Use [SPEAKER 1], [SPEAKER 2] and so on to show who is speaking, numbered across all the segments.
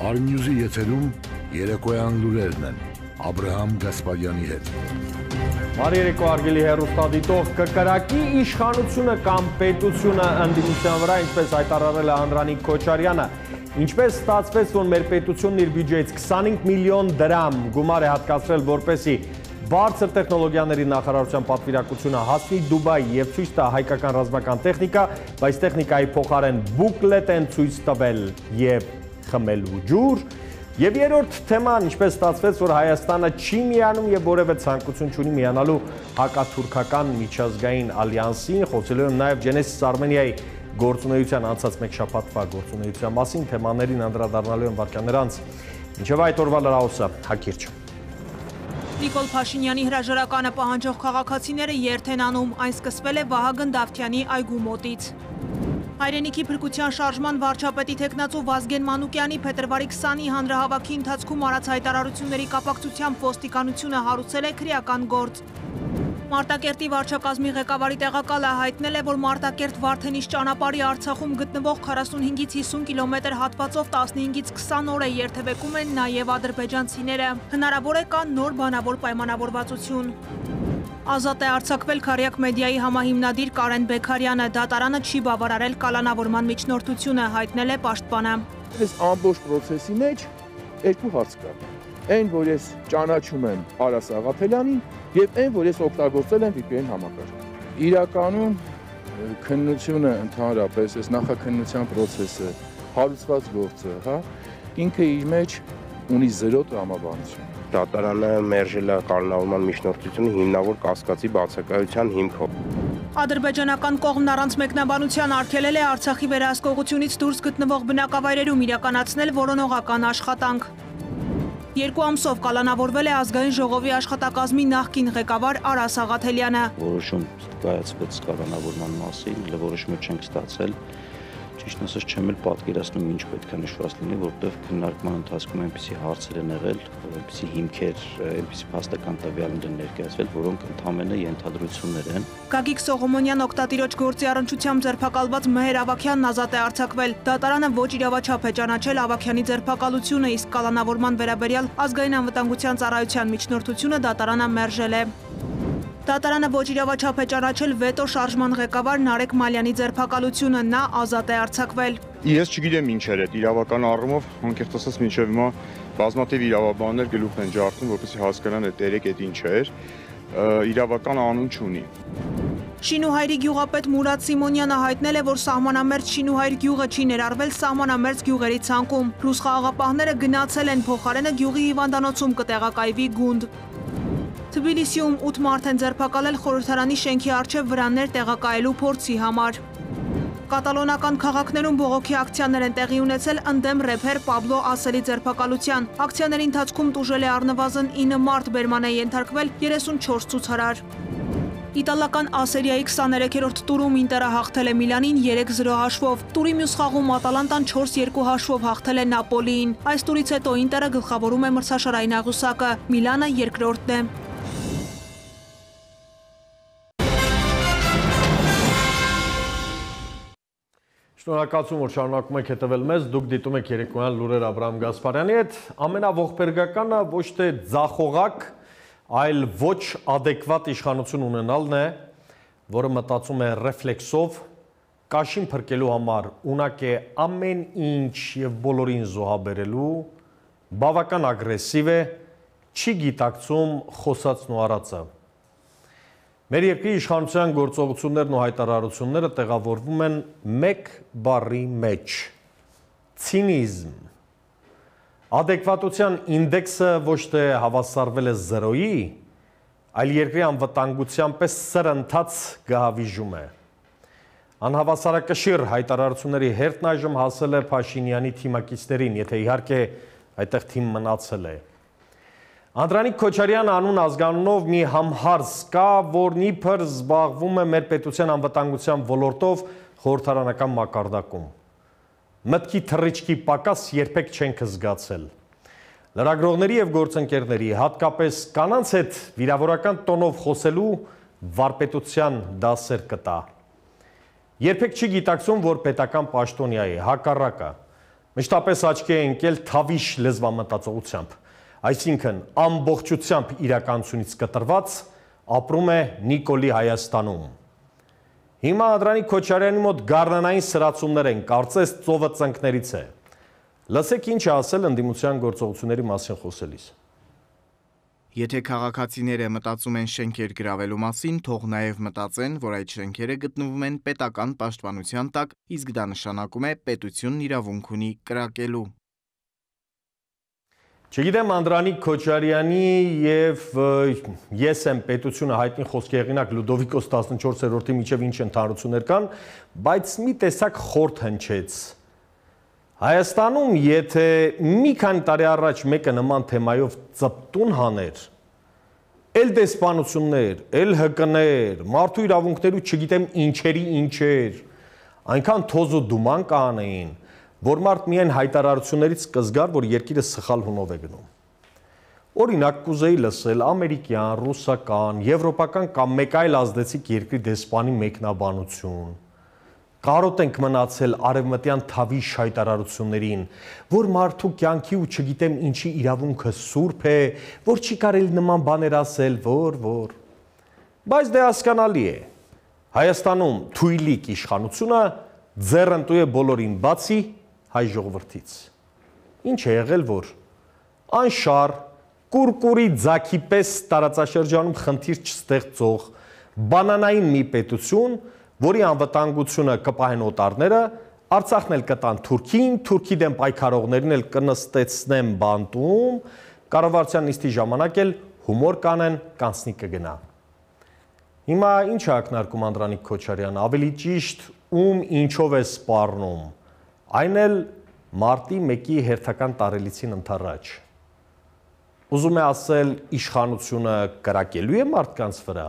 [SPEAKER 1] Արմյուզի եթերում երեկոյան լուրերն են Աբրահամ Գասպարյանի հետ։
[SPEAKER 2] Բարի երեկո արգելի հեռուստադիտող, կկրակի իշխանությունը կամ պետությունը ընդդիմության վրա, ինչպես հայտարարել է Անդրանիկ Քոչարյանը, ինչպես ստացվեց, որ մեր պետությունն իր բյուջեից 25 միլիոն դրամ գումար է հատկացրել, որպեսզի բարձր տեխնոլոգիաների նախարարության պատվիրակությունը հասնի Դուբայ եւ ցույց տա հայկական ռազմական տեխնիկա, բայց տեխնիկայի փոխարեն բուկլետ են ցույց տվել եւ խմելու ջուր։ Եվ երրորդ թեման, ինչպես ստացվեց, որ Հայաստանը չի միանում եւ որևէ ցանկություն չունի միանալու հակաթուրքական միջազգային ալյանսին, խոսելու եմ նաեւ Genesis Armenia-ի գործունեության անցած մեկ շաբաթվա գործունեության մասին, թեմաներին անդրադառնալու եմ վարքյաններ անց։ Մինչեւ այդ օրվա լրահոսը հակիրճ։
[SPEAKER 3] Նիկոլ Փաշինյանի հրաժարականը պահանջող քաղաքացիները երթ են անում, այն սկսվել է Վահագն Դավթյանի այգու մոտից։ Հայրենիքի փրկության շարժման վարչապետի թեկնածու Վազգեն Մանուկյանի փետրվարի 20-ի հանրահավաքի ընթացքում արած հայտարարությունների կապակցությամբ ոստիկանությունը հարուցել է քրեական գործ։ Մարտակերտի վարչակազմի ղեկավարի տեղակալը հայտնել է, որ Մարտակերտ Վարդենիշ ճանապարհի Արցախում գտնվող 45-ից 50 կիլոմետր հատվածով 15-ից 20 օր է երթևեկում են նաև ադրբեջանցիները։ Հնարավոր է կա նոր բանավոր պայմանավորվածություն։ Ազատ է արձակվել Քարյակ մեդիայի համահիմնադիր Կարեն Բեքարյանը, դատարանը չի բավարարել կալանավորման միջնորդությունը, հայտնել է պաշտպանը։
[SPEAKER 4] Այս ամբողջ process-ի մեջ երկու հարց կա։ Այն, որ ես ճանաչում եմ Արաս Աղափելյանին, եւ այն, որ ես օգտագործել եմ VPN համակարգ։ Իրականում քննությունը ընդհանրապես այս նախաքննության process-ը, հարուցված գործը, հա, ինքը իր մեջ ունի 0 տրամաբանություն։
[SPEAKER 5] Դատարանը մերժել է կալանավորման միջնորդությունը հիմնավոր կասկածի բացակայության հիմքով։
[SPEAKER 3] Ադրբեջանական կողմն առանց մեկնաբանության արգելել է Արցախի վերահսկողությունից դուրս գտնվող բնակավայրերում իրականացնել որոնողական աշխատանք։ 2 ամսով կալանավորվել է ազգային ժողովի աշխատակազմի նախկին ղեկավար Արաս Աղաթելյանը։
[SPEAKER 6] Որոշում կայացվեց կալանավորման մասին, որոշումը չենք ստացել։ Ճիշտ ասած չեմ էլ պատկերացնում ինչ պետք է նշված լինի, որտեղ քննարկման ընթացքում այնպիսի հարցեր են եղել, այնպիսի հիմքեր, այնպիսի փաստական տվյալներ են ներկայացվել, որոնք ընդհանրապես ենթադրություններ են։
[SPEAKER 3] Գագիկ Սողոմոնյան օգտատիրոջ գործի առնչությամբ ձերբակալված Մեհեր Ավագյանն ազատ է արձակվել։ Դատարանը ոչ իրավաչափ է ճանաչել Ավագյանի ձերբակալությունը, իսկ կալանավորման վերաբերյալ ազգային անվտանգության ծառայության միջնորդությունը դատարանը մերժել է։ Դատարանը ոչ իրավաչափ է ճանաչել վետո շարժման ղեկավար Նարեկ Մալյանի ձերբակալությունը, նա ազատ է արձակվել։
[SPEAKER 7] Ես չգիտեմ ինչ էր այդ իրավական առումով, անկեղծ ասած մինչև հիմա բազմաթիվ իրավաբաններ գլուխ են ջարդում, որպեսզի հասկանան այդ երեք այդ ինչ էր, իրավական անուն չունի։
[SPEAKER 3] Շինուհայրի գյուղապետ Մուրադ Սիմոնյանը հայտնել է, որ սահմանամերձ Շինուհայր գյուղը չի ներառվել սահմանամերձ գյուղերի ցանկում։ Ռուս խաղաղապահները գնացել են, փոխարենը գյուղի հիվանդանոցում կտեղակայվի գունդ։ Թբիլիսիում 8 մարդ են ձերբակալել խորհրդարանի շենքի առջև վրաններ տեղակայելու փորձի համար։ Կատալոնական քաղաքներում բողոքի ակցիաներ են տեղի ունեցել ընդդեմ рэփեր Պաբլո Ասելի ձերբակալության։ Ակցիաների ընթացքում տուժել է առնվազն 9 մարդ, բերման է ենթարկվել 34 ցուցարար։ Իտալական Ասերիայի 23-րդ տուրում Ինտերը հաղթել է Միլանին 3-0 հաշվով։ Տուրի մյուս խաղում Ատալանտան 4-2 հաշվով հաղթել է Նապոլիին։ Այս տուրից հետո Ինտերը գլխավորում է մրցաշարային աղյուսակը, Միլանը երկրորդն է։
[SPEAKER 2] Շնորհակալություն, որ շարունակում եք հետևել մեզ, դուք դիտում եք երեկոյան լուրեր Աբրահամ Գասպարյանի հետ, ամենաողբերգականը ոչ թե ձախողակ, այլ ոչ ադեկվատ իշխանություն ունենալն է, որը մտածում է ռեֆլեքսով, կաշին փրկելու համար ունակ է ամեն ինչ եւ բոլորին զոհաբերելու, բավական ագրեսիվ է, չի գիտակցում խոսածն ու արածը։ Մեր երկրի իշխանության գործողություններն ու հայտարարությունները տեղավորվում են մեկ բառի մեջ՝ ցինիզմ։ Ադեկվատության ինդեքսը ոչ թե հավասարվել է 0-ի, այլ երկրի անվտանգության պես սրընթաց գահավիժում է։ Անհավասարակշիռ հայտարարությունների հերթն այժմ հասել է Փաշինյանի թիմակիցներին, եթե իհարկե այդտեղ թիմ մնացել է։ Անդրանիկ Քոչարյան անուն ազգանունով մի համհարց կա, որն իբր զբաղվում է մեր պետության անվտանգության ոլորտով խորհրդարանական մակարդակում։ Մտքի թռիչքի պակաս երբեք չենք զգացել։ Լրագրողների եւ գործընկերների, հատկապես կանանց հետ վիրավորական տոնով խոսելու վարպետության դասեր կտա։ Երբեք չի գիտակցում, որ պետական պաշտոնյա է, հակառակը։ Մշտապես աչքի է ընկել թավիշ լեզվամտածողությամբ, այսինքն ամբողջությամբ իրականությունից կտրված ապրում է Նիկոլի Հայաստանում։ Հիմա Անդրանիկ Քոչարյանի մոտ գարնանային սրացումներ են, կարծես ծովը ծնկներից է։ Լսեք ինչ է ասել ընդդիմության գործողությունների մասին խոսելիս։
[SPEAKER 8] Եթե քաղաքացիները մտածում են շենքեր գրավելու մասին, թող նաև մտածեն, որ այդ շենքերը գտնվում են պետական պաշտպանության տակ, իսկ դա նշանակում է պետությունն իրավունք ունի կրակելու։
[SPEAKER 2] Չգիտեմ Անդրանիկ Քոչարյանի եւ ես եմ պետությունը հայտնի խոսքի հեղինակ Լյուդովիկոս 14-րդի միջև ինչ ընդհանրություններ կան, բայց մի տեսակ խորթ հնչեց։ Հայաստանում, եթե մի քանի տարի առաջ մեկը նման թեմայով ծպտուն հաներ, էլ դեսպանություններ, էլ ՀԿ-ներ, մարդու իրավունքներու չգիտեմ ինչերի ինչեր, այնքան թոզ ու դուման կանեին, որ մարդ միայն հայտարարություններից կզգար, որ երկիրը սխալ հունով է գնում։ Օրինակ կուզեի լսել ամերիկյան, ռուսական, եվրոպական կամ մեկ այլ ազդեցիկ երկրի դեսպանի մեկնաբանություն։ Կարոտ ենք մնացել արևմտյան թավիշ հայտարարություններին, որ մարդու կյանքի ու չգիտեմ ինչի իրավունքը սուրբ է, որ չի կարելի նման բաներ ասել, որ։ Բայց դե հասկանալի է։ Հայաստանում թույլիկ իշխանությունը ձեռնտու է բոլորին, բացի հայ ժողովրդից։ Ինչ է եղել, որ անշար, կուրկուրի ձագի պես տարածաշրջանում խնդիր չստեղծող բանանային մի պետություն, որի անվտանգությունը կպահեն օտարները, Արցախն էլ կտան Թուրքին, Թուրքի դեմ պայքարողներին էլ կնստեցնեն բանտում, կառավարության նիստի ժամանակ էլ հումոր կանեն, կանցնի կգնա։ Հիմա ինչ է ակնարկում Անդրանիկ Քոչարյանը, ավելի ճիշտ ում ինչով է սպառնում, այն էլ մարտի 1-ի հերթական տարելիցին ընդառաջ։ Ուզում է ասել իշխանությունը կրակելու է մարդկանց վրա։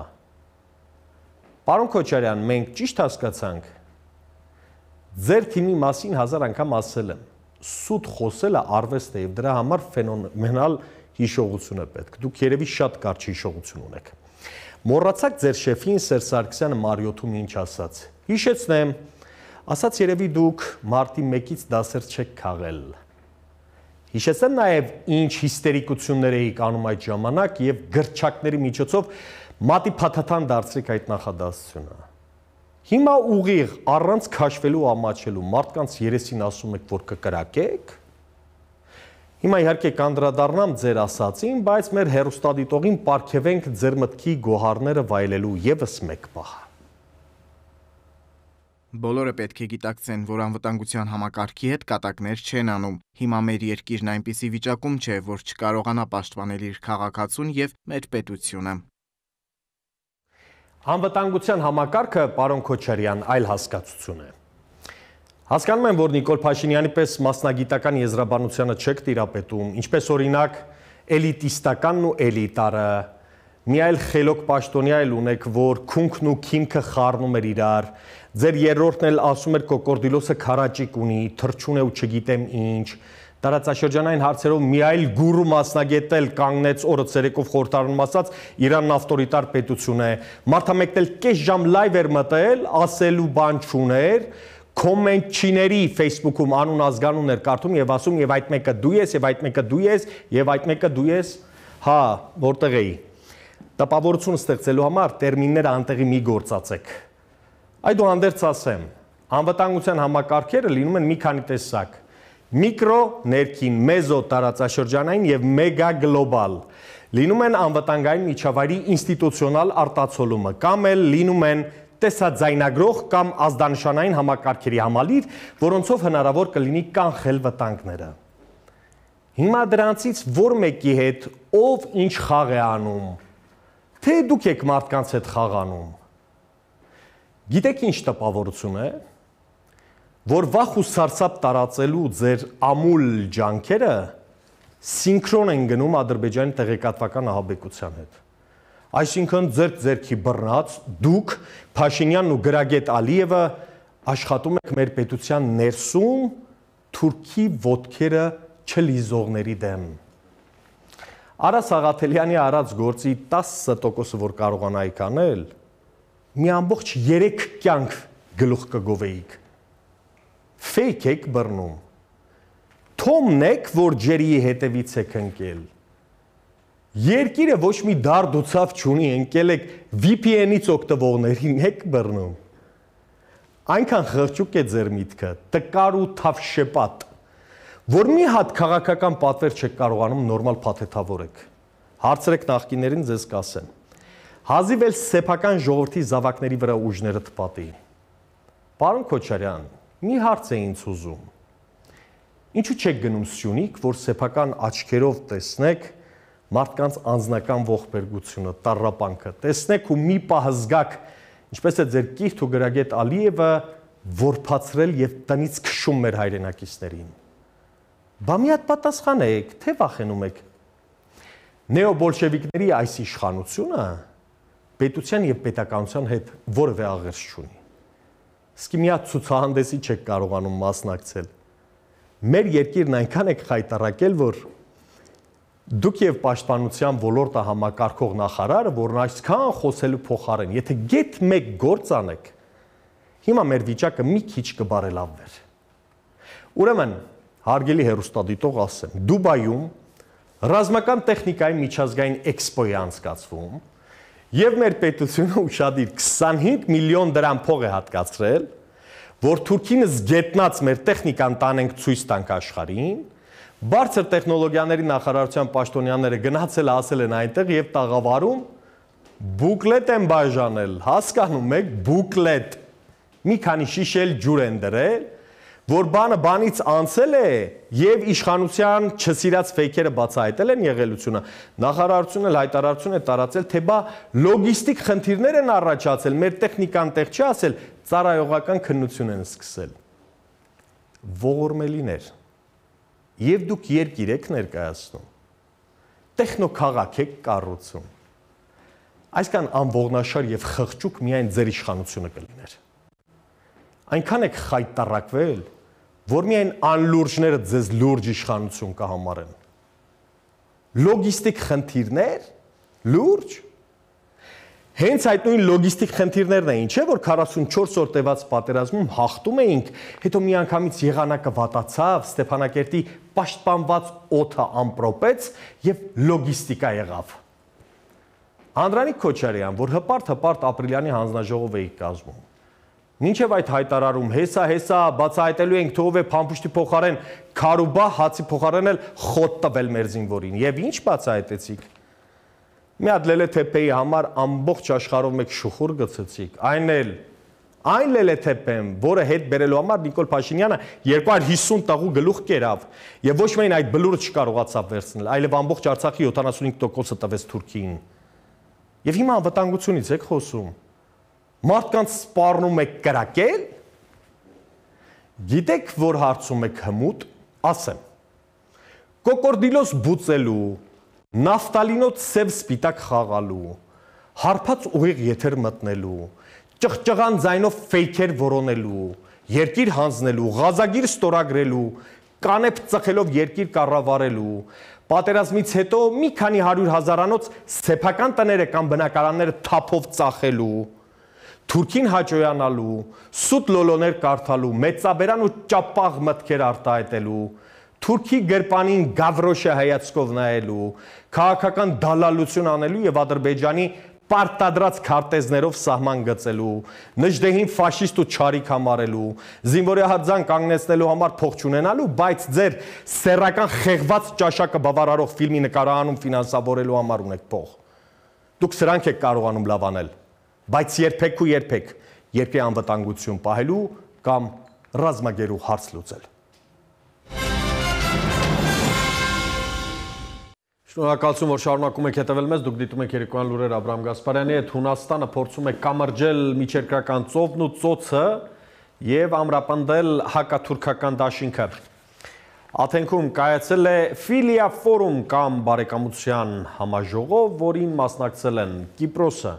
[SPEAKER 2] Պարոն Քոչարյան, մենք ճիշտ հասկացանք։ Ձեր թիմի մասին 1000 անգամ ասել եմ, սուտ խոսելը արվեստ է եւ դրա համար ֆենոմենալ հիշողություն է պետք։ Դուք երևի շատ կարճ հիշողություն ունեք։ Մոռացաք ձեր շեֆին Սերժ Սարգսյանը Մարիոթում ինչ ասաց։ Հիշեցնեմ, ասաց երևի դուք մարտի 1-ից դասեր չեք քաղել։ Հիշեցնեմ նաեւ ինչ հիստերիկություններ էիք անում այդ ժամանակ եւ գրչակների միջոցով մատի փաթաթան դարձրիք այդ նախադասությունը։ Հիմա ուղիղ առանց քաշվելու ամաչելու մարդկանց երեսին ասում եք, որ կկրակեք։ Հիմա իհարկե կանդրադառնամ ձեր ասածին, բայց մեր հերոստատիտողին պարգևենք ձեր մտքի գոհարները վայելելու եւս մեկ պահ։
[SPEAKER 8] Բոլորը պետք է գիտակցեն, որ անվտանգության համակարգի հետ կատակներ չեն անում։ Հիմա մեր երկիրն այնպիսի վիճակում չէ, որ չկարողանա պաշտպանել իր քաղաքացուն եւ մեր պետությունը։
[SPEAKER 2] Անվտանգության համակարգը, պարոն Քոչարյան, այլ հասկացություն է։ Հասկանում եմ, որ Նիկոլ Փաշինյանի պես մասնագիտական եզրաբանությանը չեք տիրապետում, ինչպես օրինակ էլիտիստականն ու էլիտարը, մի այլ խելոք պաշտոնյա էլ ունեք, որ քունքն ու քիմքը խառնում էր իրար, ձեր երրորդն էլ ասում էր կոկորդիլոսը քարաճիկ ունի, թրջուն է ու չգիտեմ ինչ, տարածաշրջանային հարցերով մի այլ գուրու մասնագետ էլ կանգնեց օրը ցերեկով խորհրդարանում ասաց Իրանն ավտորիտար պետություն է, մարդամեկն էլ կես ժամ լայվ էր մտել, ասելու բան չուներ, կոմենտչիների Facebook-ում անուն ազգանուն էր կարդում եւ ասում եւ այդ մեկը դու ես, եւ այդ մեկը դու ես, եւ այդ մեկը դու ես, հա, որտեղ էի։ Տպավորություն ստեղծելու համար տերմինները անտեղի մի գործածեք։ Այդուհանդերձ ասեմ, անվտանգության համակարգերը լինում են մի քանի տեսակ։ Միկրո, ներքին, մեզո տարածաշրջանային եւ մեգա գլոբալ։ Լինում են անվտանգային միջավայրի ինստիտուցիոնալ արտացոլումը, կամ էլ լինում են տեսաձայնագրող կամ ազդանշանային համակարգերի համալիր, որոնցով հնարավոր կլինի կանխել վտանգները։ Հիմա դրանցից որ մեկի հետ ով ինչ խաղ է անում, թե դուք եք մարդկանց հետ խաղ անում։ Գիտեք ինչ տպավորություն է, որ վախ ու սարսափ տարածելու ձեր ամուլ ջանքերը սինքրոն են գնում Ադրբեջանի տեղեկատվական ահաբեկության հետ։ Այսինքն ձերքի բռնած դուք Փաշինյանն ու գրագետ Ալիևը աշխատում եք մեր պետության ներսում Թուրքի ոտքերը չլիզողների դեմ։ Արա Սաղաթելյանի արած գործի 10%-ը որ կարողանայիք անել, մի ամբողջ 3 կյանք գլուխ կգովեիք։ Fake եք բռնում։ Թոմն եք, որ ջերիի հետևից եք ընկել։ Երկիրը ոչ մի դարդ ու ցավ չունի, ընկել եք VPN-ից օգտվողներին եք բռնում։ Այնքան խղճուկ է ձեր միտքը, տկար ու թավշեպատ, որ մի հատ քաղաքական պատվեր չեք կարողանում նորմալ փաթեթավորեք։ Հարցրեք նախկիներին, ձեզ կասեն։ Հազիվ էլ սեփական ժողովրդի զավակների վրա ուժները թպատի։ Պարոն Քոչարյան, մի հարց է ինձ ուզում։ Ինչու չեք գնում Սյունիք, որ սեփական աչքերով տեսնեք մարդկանց անձնական ողբերգությունը, տառապանքը, տեսնեք ու մի պահ զգաք, ինչպես է ձեր կիրթ ու գրագետ Ալիևը որփացրել եւ տնից քշում մեր հայրենակիցներին։ Բա մի հատ պատասխանեք, թե վախենում եք։ Նեոբոլշևիկների այս իշխանությունը պետության եւ պետականության հետ որևէ աղերս չունի։ Իսկ մի հատ ցուցահանդեսի չեք կարողանում մասնակցել։ Մեր երկիրն այնքան եք խայտառակել, որ դուք եւ պաշտպանության ոլորտը համակարգող նախարարը, որն այսքան խոսելու փոխարեն, եթե գեթ մեկ գործ անեք, հիմա մեր վիճակը մի քիչ կբարելավվեր։ Ուրեմն, հարգելի հեռուստադիտող ասեմ, Դուբայում ռազմական տեխնիկայի միջազգային էքսպո է անցկացվում, եւ մեր պետությունը ուշադիր 25 միլիոն դրամ փող է հատկացրել, որ Թուրքինս գետնած մեր տեխնիկան տանենք ցույց տանք աշխարհին, բարձր տեխնոլոգիաների նախարարության պաշտոնյաները գնացել ասել են այնտեղ եւ տաղավարում բուկլետ են բաժանել, հասկանում եք, բուկլետ, մի քանի շիշել ջուր են դրել, որ բանը բանից անցել է եւ իշխանության չսիրած ֆեյքերը բացահայտել են եղելությունը, նախարարությունը հայտարարություն է տարածել, թե բա լոգիստիկ խնդիրներ են առաջացել, մեր տեխնիկան տեղ չի ասել, ծառայողական քննություն են սկսել։ Ողորմելիներ, եւ դուք երկիր եք ներկայացնում, տեխնոքաղաք եք կառուցում, այսքան անողնաշար եւ խղճուկ միայն ձեր իշխանությունը կլիներ։ Այնքան եք խայտառակվել, որ միայն անլուրջները ձեզ լուրջ իշխանություն կհամարեն։ Լոգիստիկ խնդիրներ, լուրջ։ Հենց այդ նույն լոգիստիկ խնդիրներն էին, չէ՞ որ 44 օր տևած պատերազմում հաղթում էինք, հետո միանգամից եղանակը վատացավ, Ստեփանակերտի պաշտպանված օդը ամպրոպեց եւ լոգիստիկա եղավ։ Անդրանիկ Քոչարյան, որ հպարտ ապրիլյանի հանձնաժողով էի կազմում։ Մինչև այդ հայտարարում հեսա, բացահայտելու ենք թողով է փամփուշտի փոխարեն քարուբա, հացի փոխարեն էլ խոտ տվել մեր զինվորին։ Եվ ինչ բացահայտեցիք։ Մի հատ լելեթեփեի համար ամբողջ աշխարհով մեկ շուխուր գցեցիք, այն լելեթեփեմ, որը հետ բերելու համար Նիկոլ Փաշինյանը 250 տաղու գլուխ կերավ եւ ոչ միայն այդ բլուրը չկարողացավ վերցնել, այլև ամբողջ Արցախի 75%-ը տվեց Թուրքիին։ Եվ հիմա անվտանգությունից եք խոսում։ Մարդկանց սպառնում եք կրակել։ Գիտեք, որ հարցում եք հմուտ, ասեմ։ Կոկորդիլոս բուծելու, նավտալինոց սև սպիտակ խաղալու, հարբած ուղիղ եթեր մտնելու, ճղճղան ձայնով ֆեյքեր որոնելու, երկիր հանձնելու, ղազագիր ստորագրելու, կանեփ ծխելով երկիր կառավարելու, պատերազմից հետո մի քանի 100,000-անոց սեփական տները կամ բնակարանները թափով ծախելու, Թուրքին հաճոյանալու, սուտ լոլոներ կարդալու, մեծաբերան ու ճապաղ մտքեր արտահայտելու, Թուրքի գրպանին գավրոշը հայացքով նայելու, քաղաքական դալալություն անելու եւ Ադրբեջանի պարտադրած քարտեզներով սահման գծելու, Նժդեհին ֆաշիստ ու չարիք համարելու, զինվորահարձան կանգնեցնելու համար փող չունենալու, բայց ձեր սեռական խեղված ճաշակը բավարարող ֆիլմի նկարահանում ֆինանսավորելու համար ունեք փող։ Դուք սրանք եք կարողանում լավ անել, բայց երբեք ու երբեք երկրի անվտանգություն պահելու կամ ռազմագերու հարց լուծել։ Շնորհակալություն, որ շարունակում եք հետևել մեզ, դուք դիտում եք երեկոյան լուրեր Աբրահամ Գասպարյանի հետ, Հունաստանը փորձում է կամրջել միջերկրական ծովն ու ծոցը եւ ամրապնդել հակաթուրքական դաշինքը։ Աթենքում կայացել է Ֆիլիա ֆորում կամ բարեկամության համաժողով, որին մասնակցել են Կիպրոսը,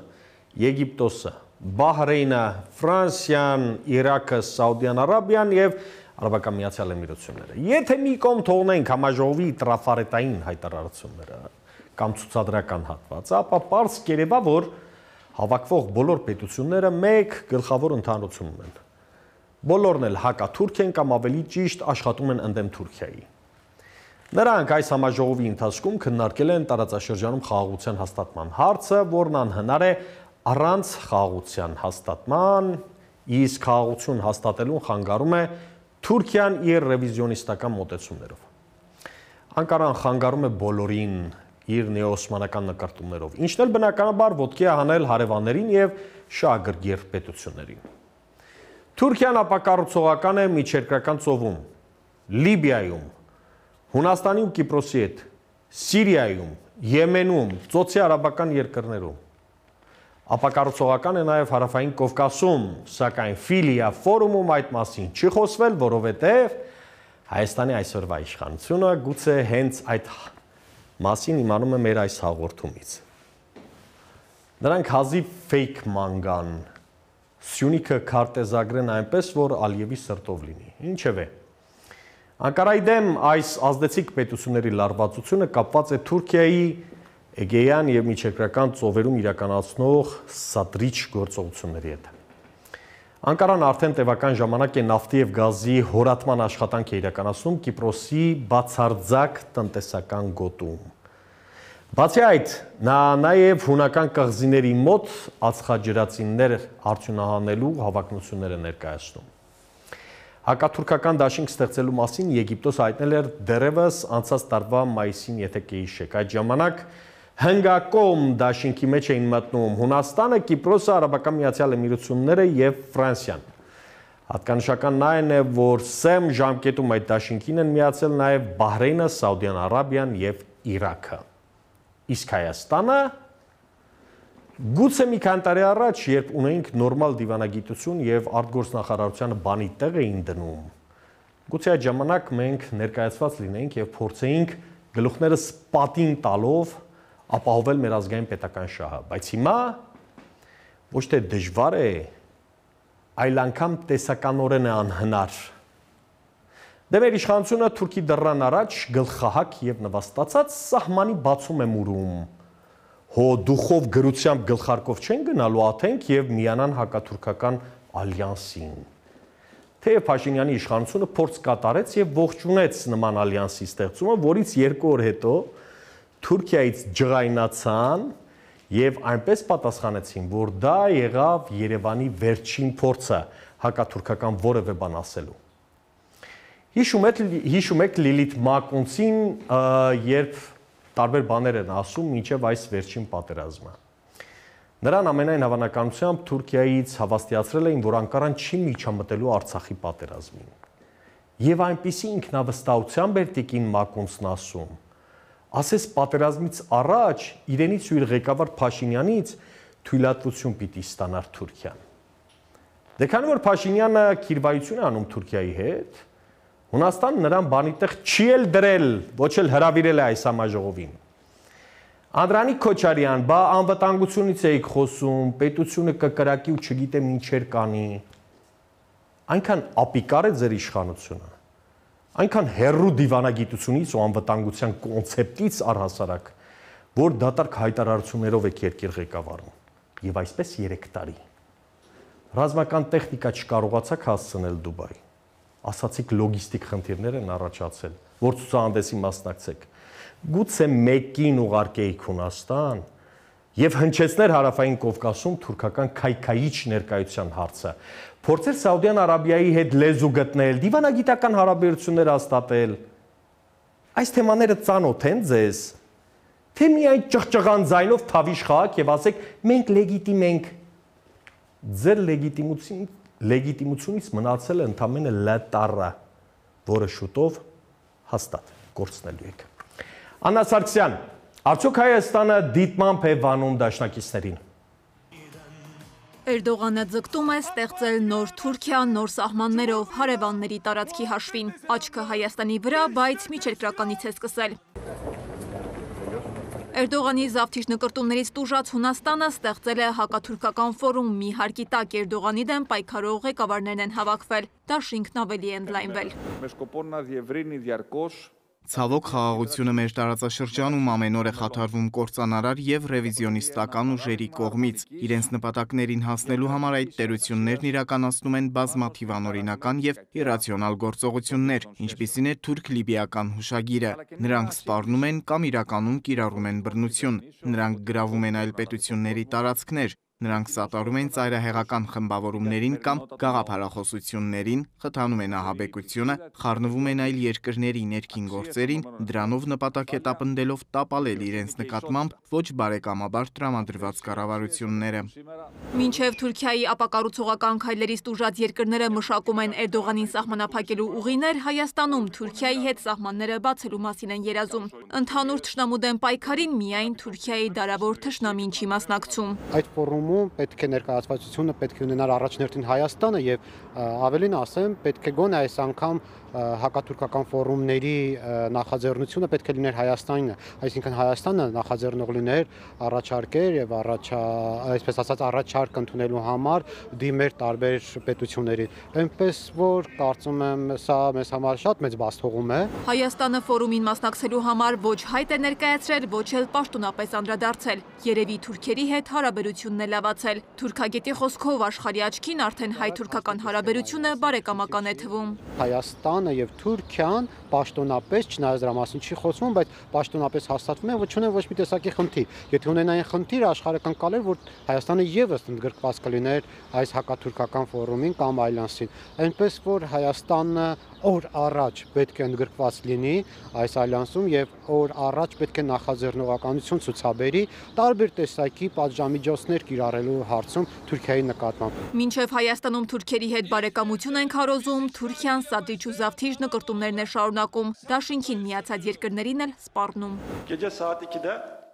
[SPEAKER 2] Եգիպտոսը, Բահրեյնը, Ֆրանսիան, Իրաքը, Սաուդյան Արաբիան եւ Արաբական Միացյալ Էմիրությունները։ Եթե մի կողմ թողնենք համաժողովի տրաֆարետային հայտարարությունները կամ ցուցադրական հատվածը, ապա պարզ կերևա, որ հավաքվող բոլոր պետությունները մեկ գլխավոր ընդհանրություն ունեն։ Բոլորն էլ հակաթուրք են կամ ավելի ճիշտ աշխատում են ընդդեմ Թուրքիայի։ Նրանք այս համաժողովի ընթացքում քննարկել են տարածաշրջանում խաղաղության հաստատման հարցը, որն անհնար է առանց խաղաղության հաստատման, իսկ խաղաղություն հաստատելուն խանգարում է Թուրքիան իր ռևիզիոնիստական մոտեցումներով։ Անկարան խանգարում է բոլորին իր նեոօսմանական նկարտումներով, ինչն էլ բնականաբար ոտքի է հանել հարևաններին եւ շահագրգիռ պետություններին։ Թուրքիան ապակառուցողական է միջերկրական ծովում, Լիբիայում, Հունաստանի ու Կիպրոսի հետ, Սիրիայում, Եմենում, Ծոցի արաբական երկրներում։ Ապակառուցողական է նաև Հարավային Կովկասում, սակայն Ֆիլիա ֆորումում այդ մասին չի խոսվել, որովհետև Հայաստանի այսօրվա իշխանությունը գուցե հենց այդ մասին իմանում է մեր այս հաղորդումից։ Նրանք հազիվ ֆեյք ման, Սյունիքը քարտեզագրեն այնպես, որ Ալիևի սրտով լինի։ Ինչևէ, Անկարայի դեմ այս ազդեցիկ պետությունների լարվածությունը կապված է Թուրքիայի Էգեյան եւ միջերկրական ծովերում իրականացնող սադրիչ գործողությունների հետ։ Անկարան արդեն տևական ժամանակ է նավթի եւ գազի հորատման աշխատանք է իրականացնում Կիպրոսի բացարձակ տնտեսական գոտում։ Բացի այդ, նա նաեւ հունական կղզիների մոտ ածխաջրածիններ արդյունահանելու հավակնություններ է ներկայացնում։ Հակաթուրքական դաշինք ստեղծելու մասին Եգիպտոս հայտնել էր դեռևս անցած տարվա մայիսին, եթե կհիշեք։ Այդ ժամանակ հնգակողմ դաշինքի մեջ էին մտնում Հունաստանը, Կիպրոսը, Արաբական Միացյալ Էմիրությունները եւ Ֆրանսիան։ Հատկանշական այն է, որ սեմ ժամկետում այդ դաշինքին են միացել նաեւ Բահրեյնը, Սաուդյան Արաբիան եւ Իրաքը։ Իսկ Հայաստանը գուցե մի քանի տարի առաջ, երբ ունեինք նորմալ դիվանագիտություն եւ արտգործնախարարությանը բանի տեղ էին դնում, գուցե այդ ժամանակ մենք ներկայացված լինեինք եւ փորձեինք գլուխներս պատին տալով ապահովել մեր ազգային պետական շահը, բայց հիմա ոչ թե դժվար է, այլ անգամ տեսականորեն է անհնար։ Դե մեր իշխանությունը Թուրքի դռան առաջ գլխահակ եւ նվաստացած սահմանի բացում է մուրում։ Հո դուխով գրությամբ գլխարկով չեն գնալու աթենք եւ միանան հակաթուրքական ալյանսին։ Թեև Փաշինյանի իշխանությունը փորձ կատարեց եւ ողջունեց նման ալյանսի ստեղծումը, որից 2 օր հետո Թուրքիայից ջղայնացան եւ այնպես պատասխանեցին, որ դա եղավ Երևանի վերջին փորձը հակաթուրքական որևէ բան ասելու։ Հիշում եք Լիլիթ Մակոնցին, երբ տարբեր բաներ են ասում մինչև այս վերջին պատերազմը։ Նրան ամենայն հավանականությամբ Թուրքիայից հավաստիացրել էին, որ Անկարան չի միջամտելու Արցախի պատերազմին։ Եվ այնպիսի ինքնավստահությամբ էր տիկին Մակոնցն ասում, ասես պատերազմից առաջ իրենից ու իր ղեկավար Փաշինյանից թույլատվություն պիտի ստանար Թուրքիան։ Դե քանի որ Փաշինյանը քիրվայություն է անում Թուրքիայի հետ, Հունաստանը նրան բանի տեղ չի էլ դրել, ոչ էլ հրավիրել է այս համաժողովին։ Անդրանիկ Քոչարյան, բա անվտանգությունից էիք խոսում, պետությունը կկրակի ու չգիտեմ ինչեր կանի։ Այնքան ապիկար է ձեր իշխանությունը, այնքան հեռու դիվանագիտությունից ու անվտանգության կոնցեպտից առհասարակ, որ դատարկ հայտարարություններով եք երկիր ղեկավարում։ Եվ այսպես 3 տարի։ Ռազմական տեխնիկա չկարողացաք հասցնել Դուբայ։ Ասացիք լոգիստիկ խնդիրներ են առաջացել, որ ցուցահանդեսի մասնակցեք։ Գուցե մեկին ուղարկեիք Հունաստան եւ հնչեցներ Հարավային Կովկասում թուրքական քայքայիչ ներկայության հարցը։ Փորձեր Սաուդյան Արաբիայի հետ լեզու գտնել, դիվանագիտական հարաբերություններ հաստատել։ Այս թեմաները ծանոթ են ձեզ։ Թե միայն ճղճղան ձայնով թավիշ խաղաք եւ ասեք մենք լեգիտիմ ենք։ Ձեր լեգիտիմությունից մնացել է ընդամենը լետառը, որը շուտով հաստատ կորցնելու եք։ Աննա Սարգսյան, արդյոք Հայաստանը դիտմամբ է վանում դաշնակիցներին։
[SPEAKER 9] Էրդողանը ձգտում է ստեղծել նոր Թուրքիա, նոր սահմաններով հարևանների տարածքի հաշվին։ Աչքը Հայաստանի վրա, բայց միջերկրականից է սկսել։ Էրդողանի զավթիչ նկրտումներից տուժած Հունաստանը ստեղծել է հակաթուրքական ֆորում, մի հարկի տակ Էրդողանի դեմ պայքարող ղեկավարներն են հավաքվել, դաշինքն ավելի է ընդլայնվել։
[SPEAKER 8] Ցավոք խաղաղությունը մեր տարածաշրջանում ամեն օր է խաթարվում կործանարար եւ ռևիզիոնիստական ուժերի կողմից։ Իրենց նպատակներին հասնելու համար այդ տերություններն իրականացնում են բազմաթիվ անօրինական եւ իրացիոնալ գործողություններ, ինչպիսին է թուրք-լիբիական հուշագիրը։ Նրանք սպառնում են կամ իրականում կիրառում են բռնություն։ Նրանք գրավում են այլ պետությունների տարածքներ։ Նրանք սատարում են ծայրահեղական խմբավորումներին կամ գաղափարախոսություններին, խթանում են ահաբեկությունը, խառնվում են այլ երկրների ներքին գործերին, դրանով նպատակ հետապնդելով տապալել իրենց նկատմամբ ոչ բարեկամաբար տրամադրված կառավարությունները։
[SPEAKER 9] Մինչև Թուրքիայի ապակառուցողական քայլերից տուժած երկրները մշակում են Էրդողանին սահմանափակելու ուղիներ, Հայաստանում Թուրքիայի հետ սահմանները բացելու մասին են երազում։ Ընդհանուր թշնամու դեմ պայքարին միայն Թուրքիայի դարավոր թշնամին չի մասնակցում։
[SPEAKER 10] Այդ ֆորումում պետք է ներկայացվածությունը պետք է ունենալ առաջնորդին Հայաստանը եւ ավելին ասեմ, պետք է գոնե այս անգամ հակաթուրքական ֆորումների նախաձեռնությունը պետք է լիներ Հայաստանինը, այսինքն Հայաստանը նախաձեռնող լիներ առաջարկեր եւ այսպես ասած առաջարկ ընդունելու համար դիմեր տարբեր պետություններին։ Այնպես որ կարծում եմ սա մեզ համար շատ մեծ բացթողում է։
[SPEAKER 9] Հայաստանը ֆորումին մասնակցելու համար ոչ հայտ է ներկայացրել, ոչ էլ պաշտոնապես անդրադարձել։ Երևի թուրքերի հետ հարաբերությունն է լավացել։ Թուրքագետի խոսքով աշխարհի աչքին արդեն հայ-թուրքական հարաբերությունը բարեկամական է թվում։
[SPEAKER 10] Հայաստանը եւ Թուրքիան պաշտոնապես, չնայած դրա մասին չի խոսվում, բայց պաշտոնապես հաստատվում են, ոչ ունեն ոչ մի տեսակի խնդիր։ Եթե ունենային խնդիր, աշխարհը կընկալեր, որ Հայաստանը եւս ընդգրկված կլիներ այս հակաթուրքական ֆորումին կամ այլանսին։ Այնպես որ Հայաստանը օր առաջ պետք է ընդգրկված լինի այս այլանսում եւ օր առաջ պետք է նախաձեռնողականություն ցուցաբերի տարբեր տեսակի պատժամիջոցներ կիրառելու հարցում Թուրքիայի նկատմամբ։
[SPEAKER 9] Մինչև Հայաստանում թուրքերի հետ բարեկամություն են քարոզում, Թուրքիան սադրիչ ու զավթիչ նկրտումներն է շարունակում, դաշինքին միացած երկրներին էլ սպառնում։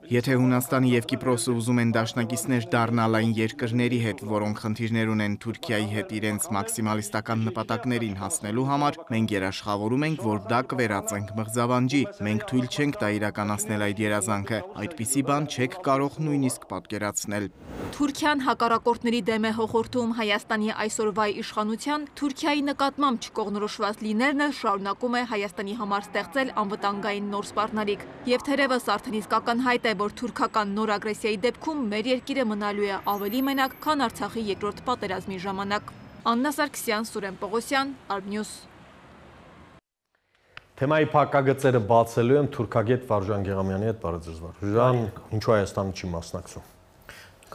[SPEAKER 8] Եթե Հունաստանը եւ Կիպրոսը ուզում են դաշնակիցներ դառնալ այն երկրների հետ, որոնք խնդիրներ ունեն Թուրքիայի հետ իրենց մաքսիմալիստական նպատակներին հասնելու համար, մենք երաշխավորում ենք, որ դա կվերածենք մղձավանջի։ Մենք թույլ չենք տա իրականացնել այդ երազանքը։ Այդպիսի բան չեք կարող նույնիսկ պատկերացնել։
[SPEAKER 9] Թուրքիան հակառակորդների դեմ է հոխորտում Հայաստանի այսօրվա իշխանության, Թուրքիայի նկատմամբ չկողնորոշված լինելն էլ շարունակում է Հայաստանի համար ստեղծել անվտանգային նոր սպառնալիք։ Եվ թերևս արդեն իսկ ակնհայտ է, որ թուրքական նոր ագրեսիայի դեպքում մեր երկիրը մնալու է ավելի մենակ, քան Արցախի երկրորդ պատերազմի ժամանակ։ Աննա Սարգսյան, Սուրեն Պողոսյան, Արմնյուս։
[SPEAKER 2] Թեմայի փակագծերը բացելու եմ թուրքագետ Վարուժան Գեղամյանի հետ բարեձրվար։ Վարուժան, ինչու Հայաստանը չի մասնակցում։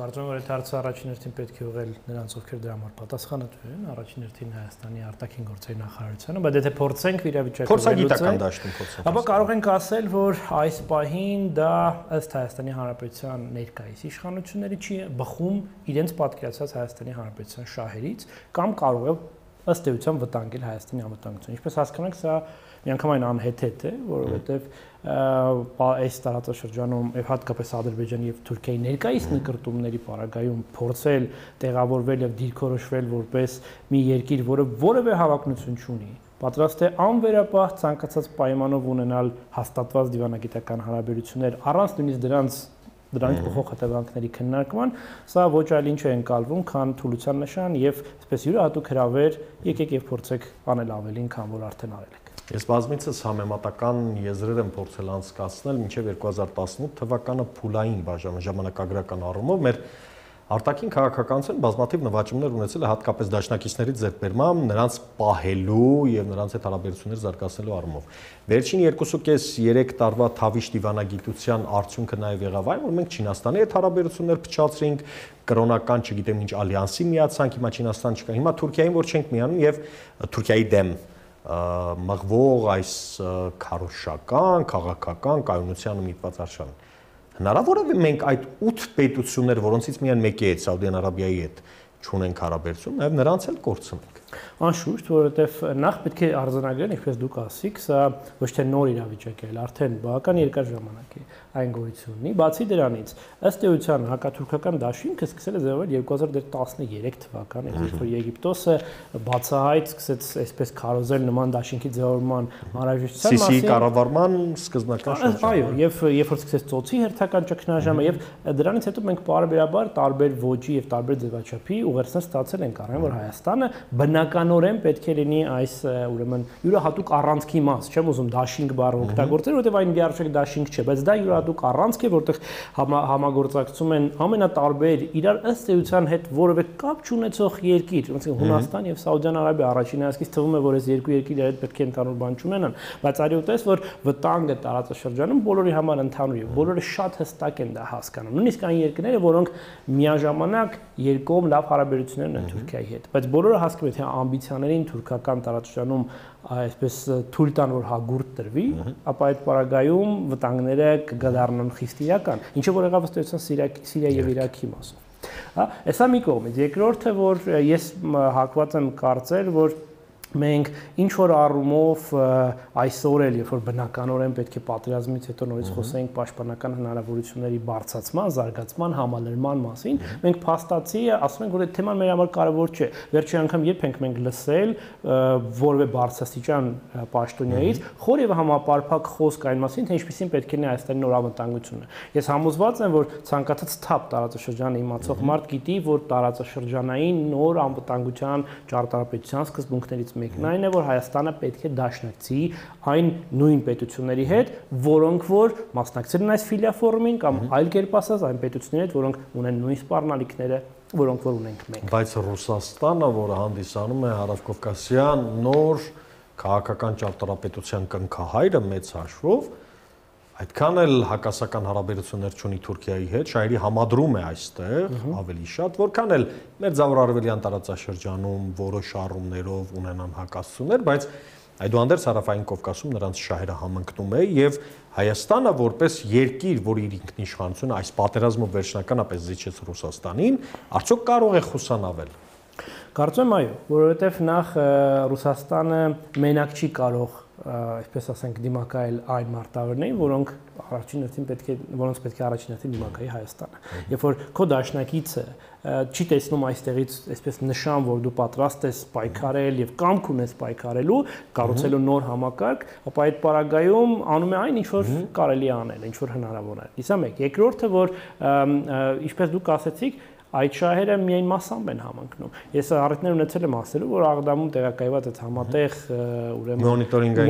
[SPEAKER 11] Կարծում եմ, որ այդ հարցը առաջին հերթին պետք է ուղղել նրանց, ովքեր դրա համար պատասխանատու են, առաջին հերթին Հայաստանի արտաքին գործերի նախարարությանը, բայց եթե փորձենք իրավիճակը
[SPEAKER 2] փորձագիտական դաշտում փորձենք,
[SPEAKER 11] ապա կարող ենք ասել, որ այս պահին դա ըստ Հայաստանի Հանրապետության ներկայիս իշխանությունների չի բխում իրենց պատկերացած Հայաստանի Հանրապետության շահերից կամ կարող է ըստ էության վտանգել Հայաստանի անվտանգությունը։ Ինչպես հասկանանք, սա միանգամայն անհեթեթ է, որովհետև այս տարածաշրջանում եւ հատկապես Ադրբեջանի եւ Թուրքիայի ներկայիս նկրտումների պարագայում փորձել տեղավորվել եւ դիրքորոշվել որպես մի երկիր, որը որևէ հավակնություն չունի, պատրաստ է անվերապահ ցանկացած պայմանով ունենալ հաստատված դիվանագիտական հարաբերություններ առանց նույնիսկ դրանից փոխող հետևանքների քննարկման, սա ոչ այլ ինչ է ընկալվում, քան թուլության նշան եւ այսպես յուրահատուկ հրավեր, եկեք եւ փորձեք անել ավելին, քան որ արդեն արել եք։
[SPEAKER 2] Ես բազմիցս համեմատական եզրեր եմ փորձել անցկացնել մինչև 2018 թվականը փուլային ժամանակագրական առումով մեր արտաքին քաղաքականության բազմաթիվ նվաճումներ ունեցել է հատկապես դաշնակիցների ձեռքբերմամբ, նրանց պահելու եւ նրանց հետ հարաբերություններ զարգացնելու առումով։ Վերջին 2.5-3 տարվա թավիշ դիվանագիտության արդյունքը նաեւ եղավ այն, որ մենք Չինաստանի հետ հարաբերություններ փչացրինք, կրոնական, չգիտեմ ինչ ալյանսի միացանք, հիմա Չինաստան չկա, հիմա Թուրքիային որ չենք միանում եւ Թուրքիայի դեմ մղվող այս քարոզչական, քաղաքական կայունությանը միտված արշավին։ Հնարավոր է մենք այդ 8 պետություններ, որոնցից միայն մեկի հետ, Սաուդյան Արաբիայի հետ, չունենք հարաբերություն, նաև նրանց էլ կորցնենք։
[SPEAKER 11] Անշուշտ, որովհետև նախ պետք է արձանագրել, ինչպես դուք ասիք, սա ոչ թե նոր իրավիճակ է, արդեն բավական երկար ժամանակ է այն գոյություն ունի։ Բացի դրանից, ըստ էության հակաթուրքական դաշինքը սկսել է ձևավորվել 2013 թվականին, երբ որ Եգիպտոսը բացահայտ սկսեց այսպես քարոզել նման դաշինքի ձևավորման անհրաժեշտության մասին։ Սիսիի կառավարման սկզբնական շրջանը։ Այո, եւ երբ որ սկսեց ծոցի հերթական ճգնաժամը եւ դրանից հետո մենք պարբերաբար տարբեր ոճի եւ տարբեր ձևաչափի ուղերձներ ստացել ենք առայն որ Հայաստանը բնականորեն պետք է լինի այս ուրեմն յուրահատուկ առանցքի մաս, չեմ ուզում դաշինք բառը օգտագործել, որովհետև այն դիարշեք դաշինք չէ, բայց դա յուրահատուկ առանցք է, որտեղ համագործակցում են ամենատարբեր իրար ըստ էության հետ որևէ կապ չունեցող երկիր, ոնց Հունաստան եւ Սաուդյան Արաբիա, առաջին հայացքից թվում է, որ այս երկու երկիրները հետ պետք է ընդհանուր բան չունենան, բայց արիուտես որ վտանգը տարածաշրջանում բոլորի համար ընդհանուր է, բոլորը շատ հստակ են դա հասկանում։ Նույնիսկ այն երկրները, որոնք միաժամանակ երկկողմ լավ հարաբերություններ ունեն Թուրքիայի հետ, բայց բոլորը հասկանում են, թե ամբիցիաներին թուրքական տարածաշրջանում այսպես թույլ տան, որ հագուրտ տրվի, ապա այդ պարագայում վտանգները կդառնան խիստ իրական, ինչը որ եղավ ըստ էության Սիրիա եւ Իրաքի մասով։ Հեսա մի կողմից, երկրորդը, որ ես հակված եմ կարծել, որ մենք ինչ որ առումով այսօր էլ, երբ որ բնականորեն պետք է պատերազմից հետո նորից խոսենք պաշտպանական հնարավորությունների բարձրացման, զարգացման, համալրման մասին, մենք փաստացի ասում ենք, որ այդ թեման մեր համար կարևոր չէ։ Վերջի անգամ երբ ենք մենք լսել որևէ բարձրաստիճան պաշտոնյայից խոր եւ համապարփակ խոսք այն մասին, թե ինչպեսին պետք է լինի Հայաստանի նոր անվտանգությունը։ Ես համոզված եմ, որ ցանկացած թափ տարածաշրջանը իմացող մարդ գիտի, որ տարածաշրջանային նոր անվտանգության ճարտարապետության սկզբունքներից մեկն այն է, որ Հայաստանը պետք է դաշնակցի այն նույն պետությունների հետ, որոնք որ մասնակցել են այս ֆիլիա-ֆորումին կամ այլ կերպ ասած այն պետությունների հետ, որոնք ունեն նույն սպառնալիքները, որոնք որ ունենք մենք։
[SPEAKER 12] Բայց Ռուսաստանը, որը հանդիսանում է հարավկովկասյան նոր քաղաքական ճարտարապետության կնքահայրը մեծ հաշվով, այդքան էլ հակասական հարաբերություններ չունի Թուրքիայի հետ, շահերի համադրում է այստեղ ավելի շատ, որքան էլ մեր Ձավառարևելյան տարածաշրջանում որոշ առումներով ունենան հակասություններ, բայց այդուհանդերձ Հարավային Կովկասում նրանց շահերը համընկնում է եւ Հայաստանը որպես երկիր, որ իր ինքնիշխանությունը այս պատերազմով վերջնականապես զիջեց Ռուսաստանին, արդյոք կարող է խուսանավել։
[SPEAKER 11] Կարծում եմ այո, որովհետեւ նախ Ռուսաստանը մենակ չի կարող այսպես ասենք դիմակայել այն մարտավարներին, որոնք առաջին հերթին որոնց պետք է առաջին հերթին դիմակայի Հայաստանը։ Երբ որ քո դաշնակիցը չի տեսնում այստեղից այսպես նշան, որ դու պատրաստ ես պայքարել եւ կամք ունես պայքարելու, կառուցելու նոր համակարգ, ապա այդ պարագայում անում է այն, ինչ որ կարելի է անել, ինչ որ հնարավոր է։ Իսկ մեկ, երկրորդը, որ ինչպես դուք ասացիք, այդ շահերը միայն մասամբ են համընկնում։ Ես առիթներ ունեցել եմ ասելու, որ Աղդամում տեղակայված այդ համատեղ ուրեմն